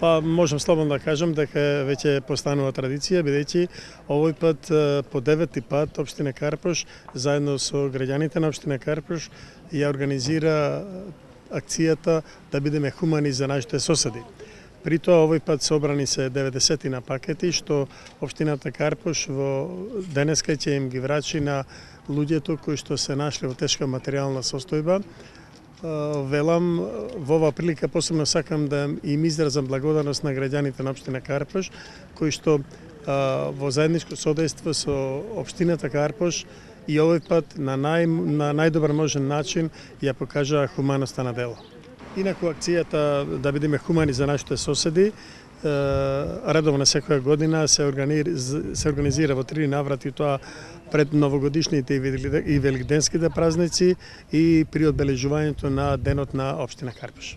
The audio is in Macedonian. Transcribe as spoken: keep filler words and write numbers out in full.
Па можам слободно да кажам дека веќе постанува традиција, бидејќи овој пат по девети пат општина Карпош заедно со граѓаните на општина Карпош ја организира акцијата да бидеме хумани за нашите соседи. При тоа овој пат собрани се деветдесет на пакети што општината Карпош во денеска ќе им ги врачи на луѓето кои што се нашли во тешка материјална состојба. Велам, во оваа прилика посебно сакам да им изразам благодарност на граѓаните на општина Карпош, кои што во заедничко содејство со општината Карпош и овој пат на, нај, на најдобар можен начин ја покажаа хуманоста на дело. Инаку акцијата да бидеме хумани за нашите соседи редовно секоја година се организира, се организира во три наврати, тоа пред новогодишните и великденските празници и при одбележувањето на денот на општина Карпош.